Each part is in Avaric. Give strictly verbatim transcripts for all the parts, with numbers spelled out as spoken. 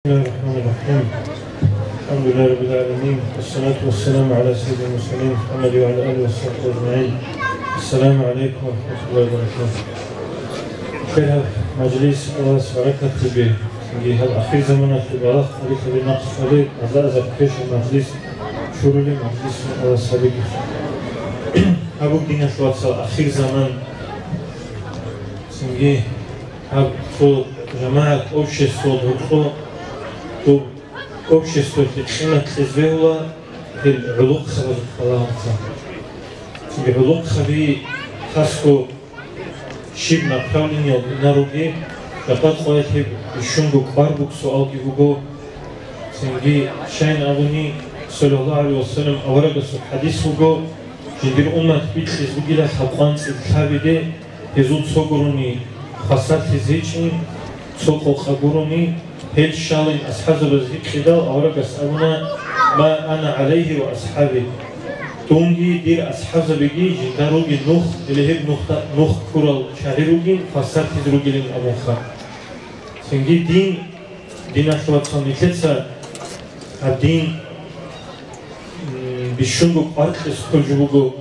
بسم الله الرحمن الرحيم. الحمد لله رب العالمين. والصلاة والسلام على سيد المرسلين محمد وعلى آله وصحبه أجمعين. السلام عليكم ورحمة الله وبركاته. Хирав мажлис, Аллагьас баракат гьабе. Цинги гьаб ахир заманалъул балагь хъури-хъури нахъ хъури, аза-азар квешаб мажлис, чурули мажлис Аллагьас гьабеги. Гьаб бугин, диналъул вацал, ахир заман. Цинги гьаб цо жамагӀат, общество, гьоркьо, доб обществоялъе къимат кьезе бегьула гьел гӀолохъабазухъ балагьанца. Цинги гӀолохъаби хасго щиб направлениялда инаруги, жакъа къоялъ гьеб бищунго кӀвар буго, суалги буго. Цинги, щайин абуни, саллаллагьу гӀалайгьи ва саллам, аварагасул хӀадис буго, жиндир уммат бикьизе бугила лъабкъван цӀикӀкӀабиде, гьезул цо гурони хвасарлъизе гьечӀин, цо къокъа гурони, гьел щалин асхӀабзабаз гьикъидал, аварагас абуна: «Ма ана гӀалайгьи ва асхӀаби». Дунги дир асхӀабзабиги жинда ругин нух, гьеле гьеб нухда-, нух ккурал чагӀи ругин, хвасарлъизе ругилин абунха. Цинги дин, диналъул вацал, нилъеца гьаб дин, м, бищунго кӀвар кьезе кколеб жо буго,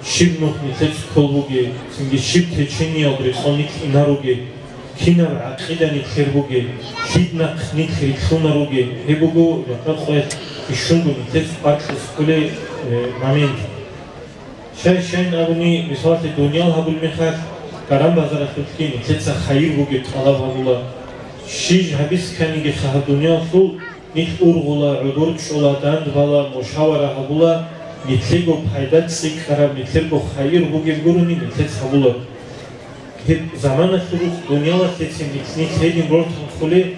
щиб нух нилъеца кколеб бугеб, цинги щиб течениялда рекъон нилъ инаругеб, кинаб гӀакъида нилъер бугеб, лъида нахъ нилъ рилълъунаругеб, гьеб буго жакъа къоялъ бищунго нилъеца кӀвар кьезе кколеб, э, момент. Щай-щайин абуни, мисалалъе, дуниял гьабулеб мехалъ, гӀараб базаралъулъги нилъеца хайир бугеб тӀалаб гьабула. Щиб гьабизе кканигиха гьаб дуниялалъул, нилъ ургъула, гӀодор чӀола, дандбала, мушавара гьабула, нилъего пайда цӀикӀкӀараб, нилъерго хайир бугеб гурони нилъеца гьабула. Гьеб заманалъул рукъ дуниялалъецин нилъ гьедин рортан хъулеб,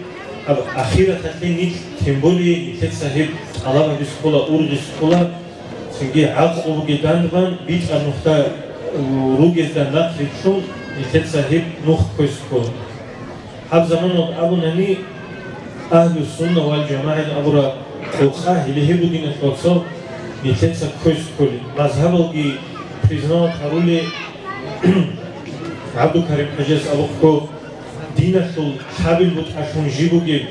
гьаб ахираталъе нилъ, тем более, нилъеца гьеб тӀалаб гьабизе ккола, ургъизе ккола, цинги гӀакълу бугеб дандбан, битӀараб нухда ругезда нахърилълъун, нилъеца гьеб нух кквезе ккола. Гьаб заманалда абунани, Агьлу-сунна вал-жамагӀин абураб къокъа гьеле гьеб бугин, диналъул вацал, нилъеца кквезе кколеб. Мазгьабалги признавать гьарулел, ГӀабдулкарим-хӀажияс абухъго, диналъул лъабил бутӀалъун жиб бугеб,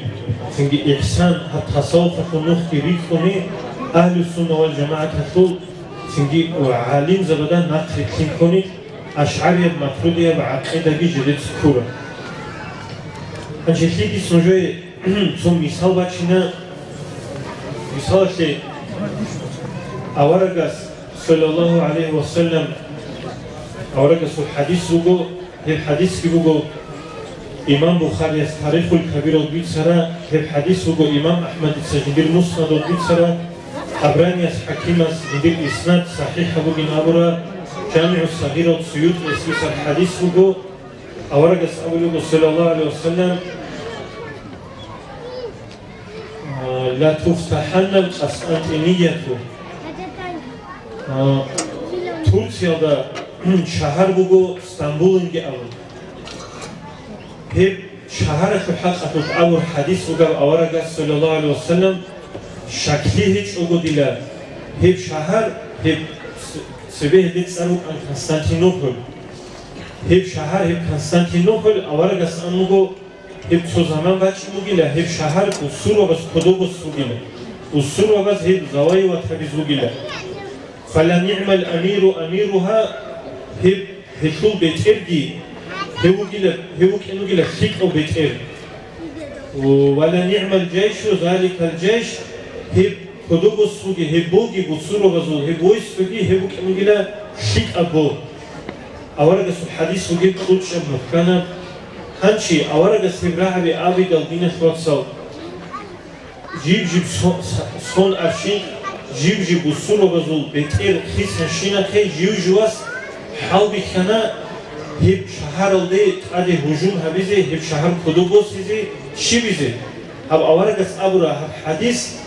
цинги ихсан, гьаб тасаввуфалъул нухги рикӀкӀуни, Агьлу-сунна вал-жамагӀаталъул цинги гӀалимзабазда нахърилълъин ккони, ашгӀарияб, матуридияб гӀакъидаги жидеца ккураб. Гьанже лъикӀ нужее цо мисал бачина. Мисалалъе, аварагас, саллаллагьу гӀалайгьи ва саллам, аварагасул хӀадис буго, гьеб хӀадисги буго имам Бухарияс Тарихул Кабиралда бицара, гьеб хӀадис буго имам АхӀмадица жиндир Муснадалда бицара, Табранияс, ХӀакимас жиндир иснад сахӀихӀаб бугин абура, ЖамигӀу Сагъиралда Суютияс бицар хӀадис буго, аварагас абулеб буго, саллаллагьу гӀалайгьи ва саллам, а, «Ла туфтахӀаннал Къустантинияту». А, Турциялда шагьар буго Стамбулинги абун. Гьеб шагьаралъул хӀакъалъулъ абур хӀадис бугеб аварагас, саллаллагьу гӀалайгьи ва саллам, щаклъи гьечӀого дила, гьеб шагьар, гьеб ц-, цебе гьеб цӀар рукӀана Константинополь. Гьеб шагьар, гьеб Константинополь аварагас ан буго, гьеб цо заман бачӀун бугила, гьеб шагьар бусурбабаз кодобос бугила, бусурбабаз гьеб завоевать гьабиз бугила. «Фала нигӀмал амиру амиругьа», гьеб, гьелъул бетӀерги, гьев вугила, гьев вукӀин вугила лъикӀав бетӀер. «Ва ла нигӀмал жайшу заликал жайш», гьеб кодобос буги, гьеб боги, бусурбабазул гьеб войскоги, гьеб букӀин бугила лъикӀаб бо. Аварагасул хӀадис бугеб кьучӀаб мухӀканаб. Гьанчи аварагас гьеб рагӀаби абидал, диналъул вацал, жиб-жиб со-, со-, сон аршин, жиб-жиб бусурбабазул бетӀер хисанщинахъе жив-живас хӀалбихьана гьеб шагьаралде тӀаде гьужум гьабизе, гьеб шагьар кодобосизе, щибизе. Гьаб аварагас абура гьаб хӀадис,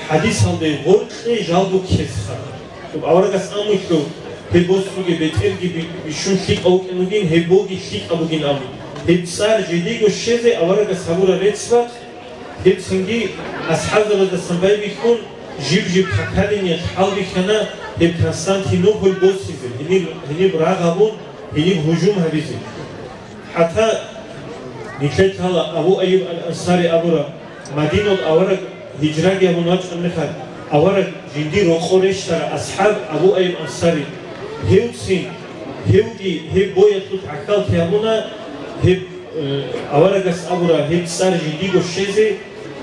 хӀадисалде гъоркье жалго ккезеха. Гьеб аварагас амулъу, гьеб босуге бетӀерги би-, бищун лъикӀав вукӀин вугин, гьеб боги лъикӀаб бугин абун. Гьеб цӀар жидего щвезе аварагас гьабура рецц-бакъ, гьеб цинги асхӀабзабаздасан байбихьун, жиб-жиб поколениялъ хӀалбихьана гьеб Константинополь босизе, гьениб, гьениб рагъ гьабун, гьениб гьужум гьабизе. ХӀатта нилъер лъала Абу Айюб ал-Ансари абура, Мадинал авараг гьижраги гьабун вачӀан мехалъ, авараг жиндир рокъор рещтара асхӀаб Абу Айюб Ансари. Гьевцин, гьевги гьеб боялъул гӀахьаллъи гьабуна, гьеб, э, аварагас абура, гьеб цӀар жиндиго щвезе,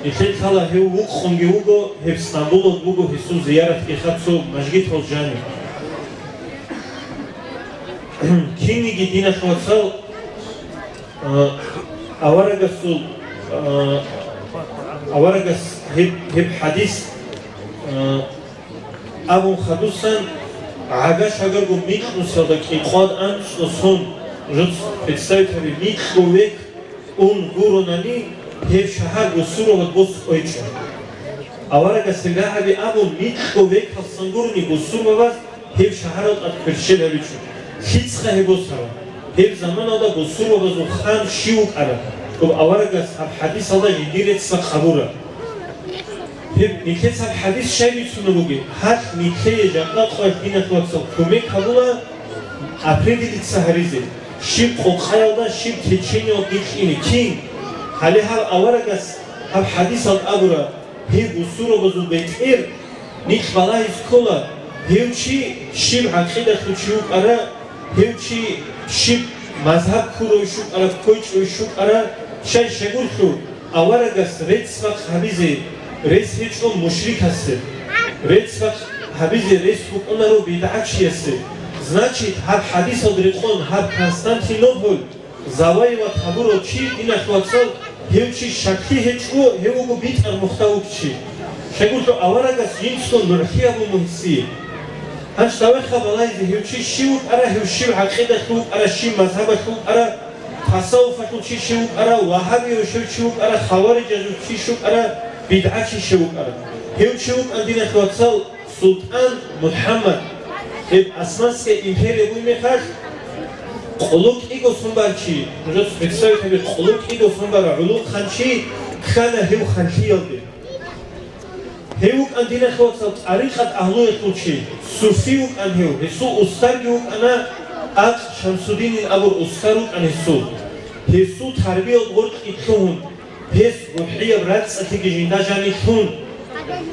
нилъер лъала гьев вукъунги вуго, гьеб Стамбулалда буго гьесул зияратги хаб цо мажгитал жанив. Кинниги, диналъ вацал, а, аварагасул, а, аварагас гьеб, гьеб хӀадис, а, абун хадусан, гӀага-шагарго микьнусалда кӀикъвад анцӀго сон, жуц представить гьаби, микьго век ун гуронани, гьеб шагьар бусурбабаз бос кӀвечӀо. Аварагас гьеб рагӀаби абун, микьго векалъсан гурони бусурбабаз гьеб шагьарал тӀад кверщел гьабичӀо. ЛъицӀха гьеб босараб? Гьеб заманалда бусурбабазул хан щив вукӀараб? Гьеб аварагас гьаб хӀадисалда жиндир рецц-бакъ гьабура. Гьеб нилъеца гьаб хӀадис щай бицунеб бугеб? Гьалъ нилъее жакъа къоялъ, диналъ вацал, кумек гьабула определиться гьаризе, щиб къокъаялда, щиб течениялда кьине кин. Гьале гьаб аварагас гьаб хӀадисалда абура, гьеб бусурбабазул бетӀер нилъ балагьизе ккола, гьев чи щиб гӀакъидалъул чи вукӀара, гьев чи щиб мазгьаб ккуравищ вукӀара, ккойчӀевищ вукӀара, щай щегурлъу, аварагас рецц-бакъ гьабизе рес гьечӀо мушрикасе, рецц-бакъ гьабизе рес букӀунаро бидгӀачиясе. Значит, гьаб хӀадисалда рекъон гьаб Константинополь завоевать гьабурав чи, диналъ вацал, гьев чи щаклъи гьечӀо, гьев вуго битӀар мухда вукӀчи. Щегулъул аварагас жинцго нугӀлъи гьабун гьесие. Гьанж цавехъа балагьизе, гьев чи щив вукӀара, гьев щив гӀакъидалъул вукӀара, щив мазгьабалъул вукӀара, тасаввуфалъул чи щив вукӀара, вагьабияв щив чи вукӀара, хаварижазул чи щив вукӀара, бидгӀачи щив вукӀара. Гьев чи вукӀан, диналъ вацал, СултӀан МухӀаммад, гьеб Османская империя буй мехалъ, къулу кӀиго сон барчи, нужеца представить гьабе, къулу кӀиго сон бара гӀулухъанчи ккана гьев ханлъиялде. Гьев вукӀан, диналъ вацал, тӀарикъат агьлуялъул чи, суфи вукӀан гьев, гьесул устарги вукӀана, Акъ Шамсудинин абур устар вукӀан гьесул. Гьесул тарбиялда гъоркье лъугьун, гьес рухӀияб рацӀцӀалъиги жинда жанилъун,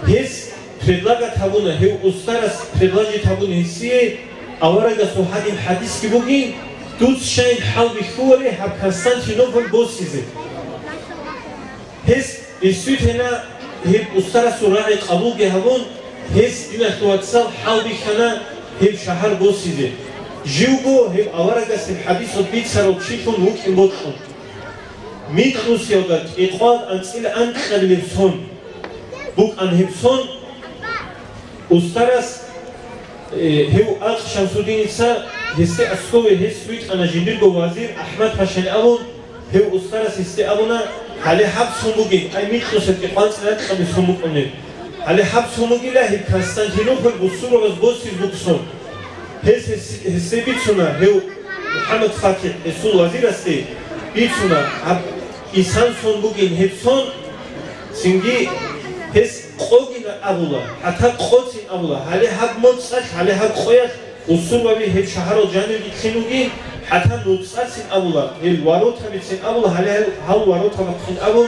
гьес предлагать гьабуна, гьев устарас предложить гьабуна гьесие, аварагасул гьадин хӀадисги бугин, дуц щайин хӀалбихьуларе гьаб Константинополь босизе. Гьес действительно гьеб устарасул рагӀи къабулги гьабун, гьес, диналъул вацал, хӀалбихьана гьеб шагьар босизе. Живго гьеб аварагас гьеб хӀадисал бицарав чилъун вукӀин бокьун. Микьнусиялда кӀикъвал анцӀила анкьабилеб сон букӀан гьеб сон, устарас, э, гьев Акъ Шамсудиница гьесде аскӀове гьес витӀана жиндирго вазир АхӀмад-пашани абун, гьев устарас гьесде абуна, гьале гьаб сон бугин, ай, микьнусиялда кӀикъвал анцӀила анкьабилеб сон букӀунеб. Гьале гьаб сон бугила гьеб Константинополь бусурбабаз босизе буго сон. Гьес, гьес, гьесде бицуна, гьев МухӀаммад ФатихӀ гьесул вазирасде бицуна, гьаб исан сон бугин гьеб сон, цинги гьес къогин абула, хӀатта къоцин абула, гьале гьаб моцӀалъ, гьале гьаб къоялъ бусурбаби гьеб шагьарал жанивги лъин вугин, хӀатта нуцӀацин абула, гьел воротабицин абула, гьале гьал, гьал воротабахъин абун,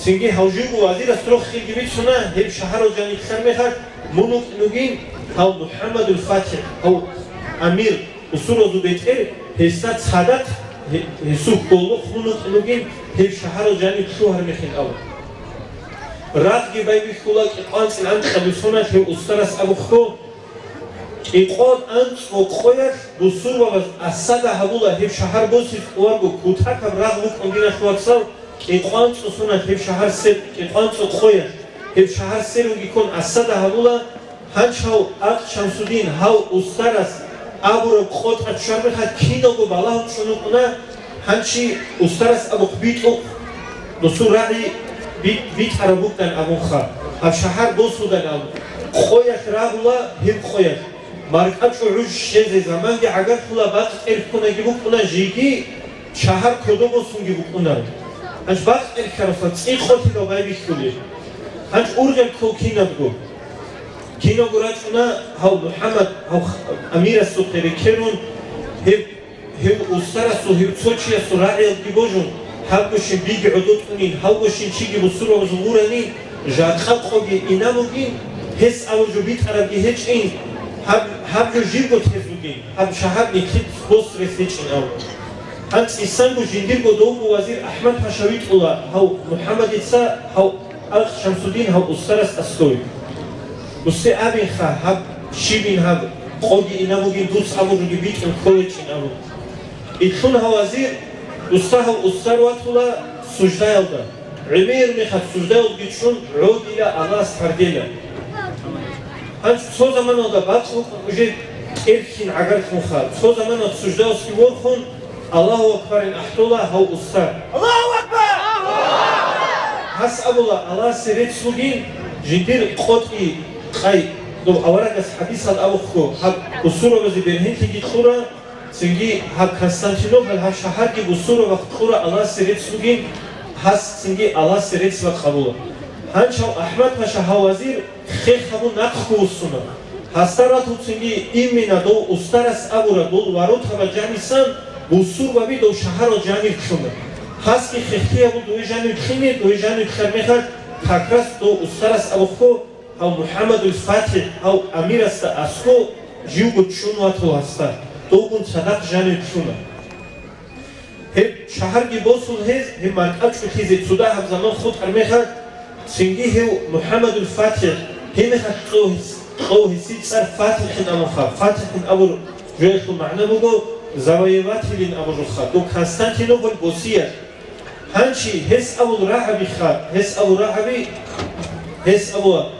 Цинги гьав живго вазирас рохелги бицуна, гьеб шагьарал жаниблъан мехалъ мун вукӀин вугин, гьав МухӀаммадул ФатихӀ, гьав амир, бусурбабазул бетӀер, гьесда цадахъ гье-, гьесул хьолохъ мун вукӀин вугин, гьеб шагьарал жаниб лъугьар мехин абун. Рагъги байбихьула кӀикъвал анцӀила анкьабилеб соналъ гьев устарас абухъго, кӀикъвал анцӀго къоялъ бусурбабаз осада гьабула, гьеб шагьар босизе кӀоларго кутакаб рагъ букӀун, диналъ вацал, кӀикъвал анцӀго соналъ гьеб шагьар сер, кӀикъвал анцӀго къоялъ гьеб шагьар сер вугиккун осада гьабула, гьанчав Акъ Шамсудин гьав устарас абураб къотӀа чӀвар мехалъ киналго балагьун чӀун вукӀуна, гьанчи устарас абухъ битӀухъ, досул рагӀи би-, битӀараб букӀан абунха, гьаб шагьар босудан абун. Къоялъ рагъула гьеб къоялъ. МаркӀачӀул гӀуж щвезе заманги гӀагарлъула, бакъ тӀерхьунаги букӀуна, жеги шагьар кодо босунги букӀунаро. Гьанж бакъ тӀерхьаралъа цӀикъ къотӀи байбихьулел. Гьанж ургъел ккол кинабго. Кинабго рачӀуна гьав МухӀаммад, гьав х-, амирасухъе рекерун, гьеб, гьев устарасул, гьев цо чиясул рагӀиялги божун, Гьабгощин биги гӀодотӀунин, гьавгощин чиги бусурбабазул гъурани, жакъа къоги инабугин, гьес абуржо битӀарабги гьечӀин, гьаб, гьаб жо живго тез бугин, гьаб шагьар нилъеца босрес гьечӀин абун. ГьанцӀ исанго жиндирго довго вазир АхӀмад-паша витӀула гьав МухӀаммадица, гьав Алкъ Шамсудин гьав устарас аскӀове. Дуссе абинха, гьаб щибин гьаб, къоги инабугин, дуц абуржоги битӀун кколечӀин абун. Итлъун гьав вазир, дусса гьав устар ватула суждаялда, гӀемер мехалъ суждаялдги чӀун гӀодила Аллагьас гьардела. Гьанж цо заманалда бакъ букӀун уже кӀерхьин гӀагарлъунха, цо заманалъ суждаялъги ворхун, Аллагьу акбарин ахӀдола гьав устар. Аллагьу акбар! Гьас абула, Аллагьасе рецц бугин, жиндир къотӀи къай, дов аварагас хӀадисал абухъго, гьаб бусурбабазе бергьенлъиги кьура, цинги гьаб Константинополь гьаб шагьарги бусурбабахъ кьура Аллагьасе рецц бугин, гьас цинги Аллагьасе рецц бакъ абула. Гьанчав АхӀмад-паша гьав вазир хех гьабун нахъго вуссуна. Гьасда ратуцинги имина дов устарас абура, дол воротаба жанисан бусурбаби дов шагьарал жанир ккуна. Гьасги хехтиябул дове жанив ккине, дове жанив ккар мехалъ, как раз дов устарас абухъго, гьав МухӀаммадул ФатихӀ, гьав амирасда аскӀо живго чӀун ватула гьасда, довгун цадахъ жанив ккуна. Гьеб шагьарги босун гьез, гьеб маркӀачӀулъизе цо дагьаб заман хутӀар мехалъ, цинги гьев МухӀаммадул ФатихӀ, гьеб мехалъ кьов гьес-, кьов гьесие цӀар ФатихӀин абунха, ФатихӀин абур жоялъул магӀна буго завоевателин абурха, дов Константинополь босиялъ. Гьанчи гьес абул рагӀабиха, гьес абул рагӀаби, гьес абула,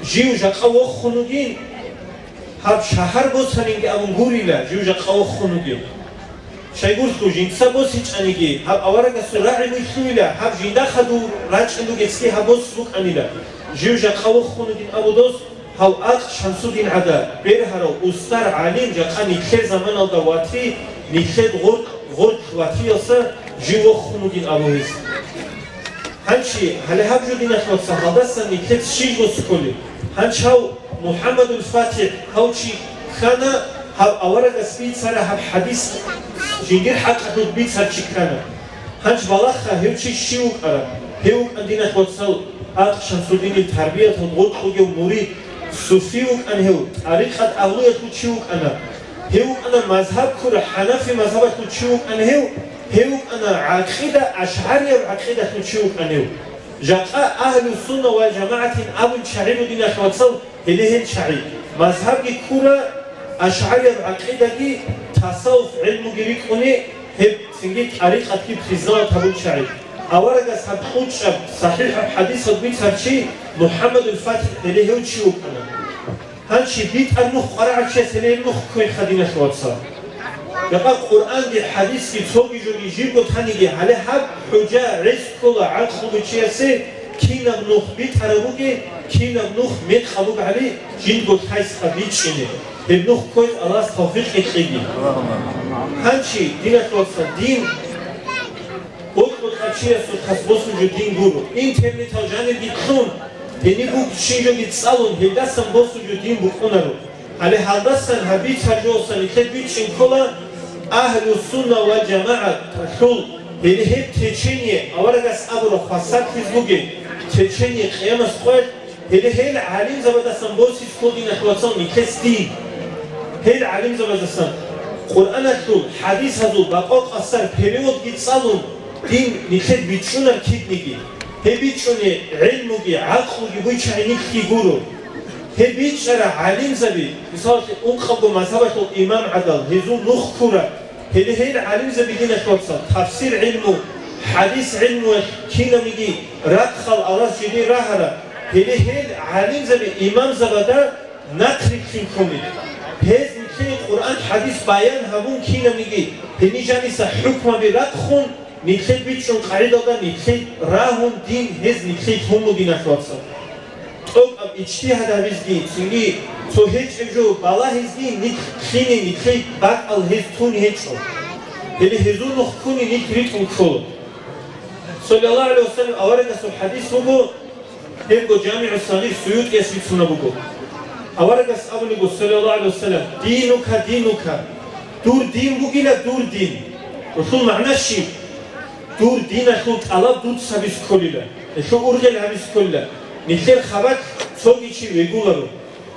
жив жакъа вохун вугин, гьаб шагьар босанинги абун гурила, жив жакъа вохун вугин. Щайгурелъул жинца босичӀаниги, гьаб аварагасул рагӀи вуйлъуила, гьаб жинда хадув рачӀин ругецги гьаб бос букӀанила. Жив жакъа вохун вугин абу дос, гьав Алкъ Шамсудин гӀада, бергьарав устар гӀалим жакъа нилъер заманалда вати, нилъер гъоркь, гъоркь ватиялса жив вохун вугин абу гьес. Гьанчи, гьале гьаб жо, диналъ вацал, гьалдасан нилъец щиб гьос кколеб? Гьанчав МухӀаммадул ФатихӀ гьав чи ккана, гьав аварагас бицара гьаб хӀадис, жиндир хӀакъалъулъ бицар чи ккана. Гьанч балагьха, гьев чи щив вукӀараб? Гьев вукӀан, диналъ вацал, Алкъ Шамсудинил тарбиятал гъоркь вугев мурид, суфи вукӀан гьев, тӀарикъат агьлуялъул чи вукӀана. Гьев вукӀана мазгьаб ккурав, хӀанафи мазгьабалъул чи вукӀана гьев, гьев вукӀана гӀакъида, ашгӀарияб гӀакъидалъул чи вукӀана гьев. Жакъа Агьлу-сунна ва жамагӀатин абун чагӀи бугин, диналъ вацал, гьеле гьел чагӀи. Мазгьабги ккура, ашгӀарияб гӀакъидаги, тасаввуф гӀилмуги рикӀкӀуни, гьеб цинги тӀарикъатги признават гьабун чагӀи. Аварагас гьаб кьучӀаб, сахӀихӀаб хӀадисал бицар чи МухӀаммадул ФатихӀ гьеле гьев чи вукӀана. Гьанчи битӀар нух къварагӀав чияс гьеле гьеб нух кквейха, диналъ вацал. Жакъа Къуръанги хӀадисги цоги жоги жибго таниги, гьале гьаб хӀужа гӀез ккола гӀакълуги чиясе, кинаб нух битӀараб бугеб, кинаб нух мекъаб бугеб гьали жиндго лъайсха бичӀчӀине. Гьеб нух кквезе Аллагьас тавфикъ кьеги. Гьанчи, диналъ вацал, дин бокьукьа чиясухъас босун жо дин гуро. Интернетал жанирги кьун, гьениб бугебщинаб жоги цӀалун, гьелдасан босун жо дин букӀунаро. Гьале гьалдасан гьаб бицар жоялъа нилъер бичӀчӀин ккола Агьлу-сунна ва жамагӀаталъул, гьеле гьеб течение, аварагас абура, хвасарлъиз бугеб течение къиямас къоялъ, гьеле гьел гӀалимзабаздасан босизе ккола, диналъ вацал, нилъер дин. Гьел гӀалимзабаздасан Къуръаналъул, хӀадисазул бакъвакъ асар переводги цӀалун, дин нилъер бичӀчӀунар кидниги. Гьеб бичӀчӀунеб гӀилмуги гӀакълуги бугеб чагӀи нилъги гуро. Гьеб бичӀчӀарал гӀалимзаби, мисалалъе, ункъабго мазгьабалъул имам гӀадал, гьезул нух ккурал, гьеле гьел гӀалимзаби, диналъ вацал, тафсир гӀилму, хӀадис гӀилмуялъ кинабниги рахъал Аллагьас жиде рагьарал, гьеле гьел гӀалимзаби имамзабазда нахърилълъин ккони. Гьез нилъее Къуръан, хӀадис баян гьабун кинабниги, гьениб жаниса хӀукмаби рахъун, нилъер бичӀчӀун къагӀидалда нилъее рагьун дин гьез нилъее лъун бугин, диналъ вацал. ТӀокӀаб ижтигьад гьабизги, цинги цо гьечӀеб жо балагьизги нилъ лъине, нилъее бакӀал гьез тун гьечӀо. Гьеле гьезул нух ккуни нилъ ритӀун ккола. Саллаллагьу гӀалайгьи ва саллам аварагасул хӀадис буго, гьебго ЖамигӀу Сагъир СуютӀияс бицунеб буго. Аварагас абулеб буго, саллаллагьу гӀалайгьи ва саллам: «Динука, динука», дур дин бугила, дур дин. Гьелъул магӀна щиб? Дур диналъул тӀалаб дуца гьабизе кколила, гьелъул ургъел гьабизе кколила. Нилъер хабалъ цоги чи вегуларо.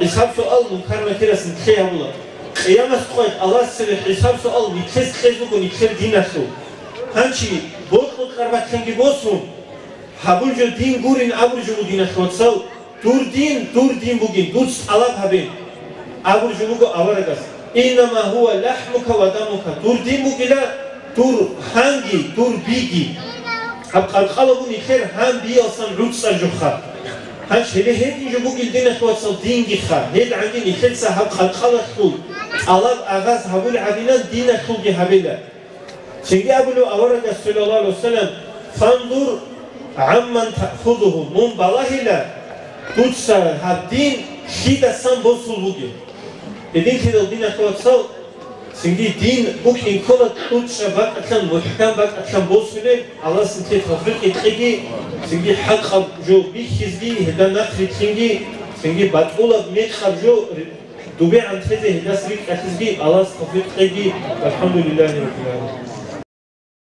ХӀисаб-суал Мункар-Накирас нилъее гьабула. Къиямас къоялъ Аллагьас цебе хӀисаб-суал нилъеца кьезе буго нилъер диналъул. Гьанчи бокьукьараб бакӀалъанги босун, гьабул жо дин гурин абураб жо буго, диналъул вацал, дур дин, дур дин бугин, дуца тӀалаб гьабе. Абураб жо буго аварагас: «Иннама гьува лахӀмука ва дамука», дур дин бугила, дур гьанги, дур биги. Гьаб къаркъала буго нилъер гьан биялсан гӀуцӀар жоха. Гьанчи гьеле гьедин жо бугил, диналъул вацал, дингиха, гьедгӀанги нилъеца гьаб къаркъалалъул тӀалаб агъаз гьабулеб гӀадинан диналъулги гьабила. Цинги абулеб аварагас, саллаллагьу гӀалайгьи ва саллам: «Фанзур гӀамман таъхузугьу», мун балагьила, дуца гьаб дин лъидасан босул бугеб. Гьединлъидал, диналъул вацал, цинги дин букӀин ккола кьучӀаб бакӀалъан, мухӀкам бакӀалъан босулеб, Аллагьас нилъее тавфикъ кьеги, цинги хӀакъаб жо бихьизеги, гьелда нахърилълъинги, цинги батӀулаб мекъаб жо ДубегӀан тезе гьелдаса рикӀкӀалъизеги Аллагьас тавфикъ кьеги. ВалхӀамдулиллагьи раббил гӀаламин.